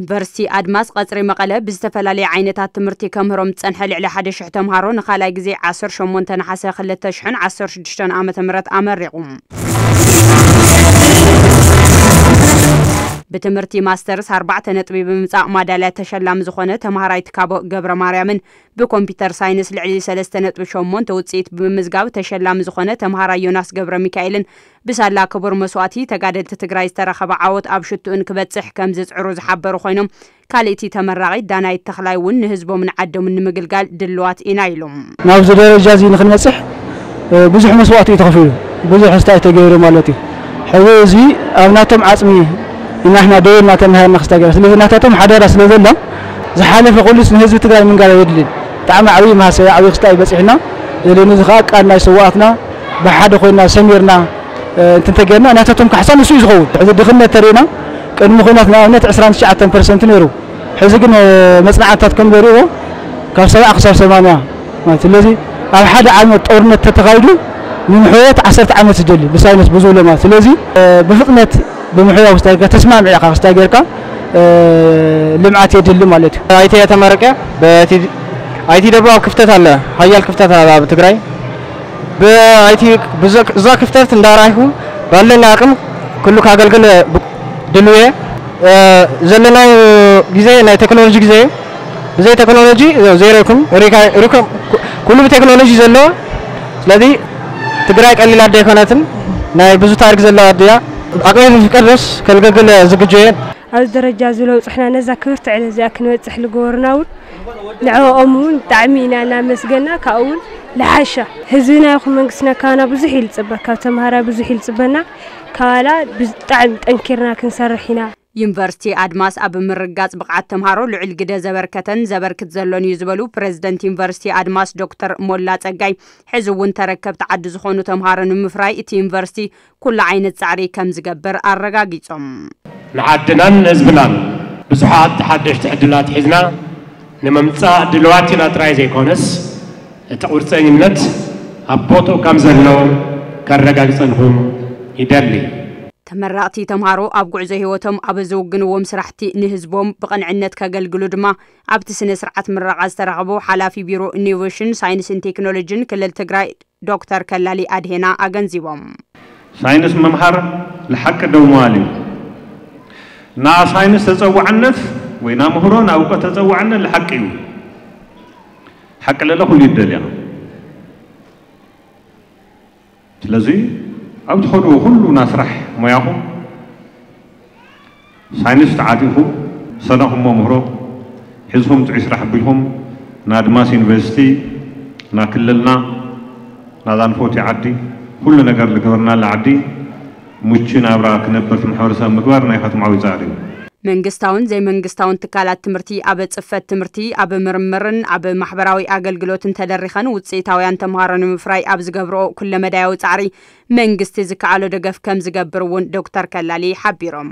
ዩኒቨርሲቲ ኣድማስ ቀጽሪ መቐለ ብዝተፈላለየ ዓይነታት ትምህርቲ ከምህሮም ዝጸንሐ ልዕሊ ሓደ ሽሕ ተምሃሮ ንኻልኣይ ግዜ ዓሰርተ ሸሞንተ ነሓሰ ክልተ ሽሕን ዓሰርተ ሽዱሽተን ዓመተ ምህረት ኣመሪቑ። ብትምህርቲ ማስተርስ ኣርባዕተ ነጥቢ ብምምጻእ ማዳልያ ተሸላሚ ዝኾነ ተምሃራይ ትካቦ ገብረ ማርያምን ብኮምፒውተር ሳይንስ ልዕሊ ሰለስተ ነጥቢ ሸሞንተ ውጽኢት ብምምዝጋብ ተሸላሚ ዝኾነ ተምሃራይ ዮናስ ገብረ ሚካኤልን ብሳላ ክቡር መስዋእቲ ተጋደልቲ ትግራይ ዝተረኸበ ዓወት ኣብ ሽትኡን ክበጽሕ ከም ዝጽዕሩ ዝሓበሩ ኮይኖም፣ ካልእቲ ተመራቒት ዳናይት ተኽላይ እውን ንህዝቦምን ዓዶምን ንምግልጋል ድልዋት ኢና ኢሎም። ናብዚ ደረጃ እዚ ንክንበጽሕ ብዙሕ መስዋእቲ እዩ ተኸፊሉ፣ ብዙሕ ስታይ ተገይሩ ማለት እዩ። ሕዚ እዚ ኣብ ናቶም ዓጽሚ ኢና ሕና ደው ኢልና ተማሂርና ክስታይ ገይርና። ስለዚ ናታቶም ሓደራ ስለ ዘሎ ዝሓለፈ ኩሉስ ንህዝቢ ትግራይ ምንጋር የድልን። ብጣዕሚ ዓብዪ መሃሰያ ዓብዪ ክስታይ በፂሕና። ስለዚ እዚ ከዓ ቃል ናይ ስዋኣትና ብሓደ ኮይና ሰሚርና እንተተገርና ናታቶም ካሕሳ ንሱ እዩ ዝኸውን። ሕዚ ድኽነት ተሪእና ቅድሚ ኩናት ንኣብነት ዕስራን ትሽዓተን ፐርሰንት ነይሩ። ሕዚ ግን መፅናዕትታት ከም ዘርእዎ ካብ ሰብዓ ክሳብ ሰማንያ ማለት። ስለዚ ኣብ ሓደ ዓመት ጦርነት ተተኻይዱ ንምሕዋያት ዓሰርተ ዓመት ዝደሊ ብሳይንስ ብዙብሎ ማለት። ስለዚ ብፍጥነት ብምሕዋያ ክስታይ ጌርካ ተስማሚዕካ ክስታይ ጌርካ ልምዓት የድሊ ማለት እዩ። ኣይቲ ተመረቀ። በቲ ኣይቲ ደብሮ ክፍተት ኣለ፣ ሓያል ክፍተት ኣለ ኣብ ትግራይ። ብኣይቲ እዛ ክፍተት እንዳራይኹ ባለና ኣቅም ኩሉ ካገልግል ድልውየ ዘለናይ ግዜ ናይ ቴክኖሎጂ ግዜ። ብዘይ ቴክኖሎጂ ዜሮ ይኩም። ኩሉ ብቴክኖሎጂ ዘሎ። ስለዚ ትግራይ ቀሊል ኣደ ኣይኮነትን። ናይ ብዙ ታሪክ ዘለዋ ኣድያ። ኣቅሚ ዝፍቀድ ድረስ ከልገግል ዝግጆ እየ። ኣብዚ ደረጃ እዚ ለውፅሕና ነዛ ክብርቲ ዕለት እዚኣ ክንበፅሕ ልገበሩና እውን ንዕኦም እውን ብጣዕሚ ኢና እናመስገና። ካብኡ እውን ልሓሻ ህዝብና ይኹን መንግስትና ካባና ብዙሕ ይልፅበ፣ ካብ ተምሃራይ ብዙሕ ይልፅበና። ካባላ ብጣዕሚ ጠንኪርና ክንሰርሕ ኢና። ዩኒቨርሲቲ ኣድማስ ኣብ ምርጋጽ ብቕዓት ተምሃሮ ልዑል ግደ ዘበርከተን ዘበርክት ዘሎን እዩ ዝበሉ ፕረዚደንት ዩኒቨርሲቲ ኣድማስ ዶክተር ሞላ ጸጋይ፣ ሕዚ እውን ተረከብቲ ዓዲ ዝኾኑ ተምሃሮ ንምፍራይ እቲ ዩኒቨርሲቲ ኩሉ ዓይነት ጻዕሪ ከም ዝገብር ኣረጋጊጾም። ንዓድናን ንህዝብናን ብዙሓት ሓደሽቲ ዕድላት ሒዝና ንምምጻእ ድልዋት ኢና ጥራይ ዘይኮነስ፣ እቲ ቁርጸኝነት ኣብ ቦትኡ ከም ዘሎ ከረጋግጸልኩም ይደሊ። ተመረቕቲ ተምሃሮ ኣብ ጉዕዞ ህይወቶም ኣብ ዝውግንዎም ስራሕቲ ንህዝቦም ብቕንዕነት ከገልግሉ ድማ ኣብቲ ስነ ስርዓት ምረቓ ዝተረኸቡ ሓላፊ ቢሮ ኢኖቬሽን ሳይንስን ቴክኖሎጂን ክልል ትግራይ ዶክተር ከላሊ ኣድሄና ኣገንዚቦም። ሳይንስ ምምሃር ልሓቂ ደው ምባል እዩ። ና ሳይንስ ተጸዋዕነት ወይ ና ምህሮ ና እውቀት ተጸዋዕነት ልሓቂ እዩ። ሓቂ ለለ ኩሉ ይደልያ። ስለዚ ኣብ ትኸድዎ ኩሉ ና ስራሕ ሞያኹም ሳይንስ ተዓጢኹም ሰነኹም መምህሮ ሒዝኹም ጥዑይ ስራሕ ኣቢልኩም ንኣድማስ ዩኒቨርሲቲ፣ ንክልልና፣ ናዛ ንፈትዮ ዓዲ፣ ኩሉ ነገር ዝገበርናላ ዓዲ ምቹ ናብራ ክነብር እቲ ማሕበረሰብ ምግባር ናይኻትኩም ዓብዪ ፃዕሪ እዩ። መንግስታውን ዘይመንግስታውን ትካላት ትምህርቲ ኣብ ጽፈት ትምህርቲ፣ ኣብ ምርምርን ኣብ ማሕበራዊ ኣገልግሎትን ተደሪኸን ውፅኢታውያን ተምሃሮ ንምፍራይ ኣብ ዝገብርኦ ኩለመዳያዊ ፃዕሪ መንግስቲ ዝከኣሎ ደገፍ ከም ዝገብር እውን ዶክተር ከላሊ ሓቢሮም።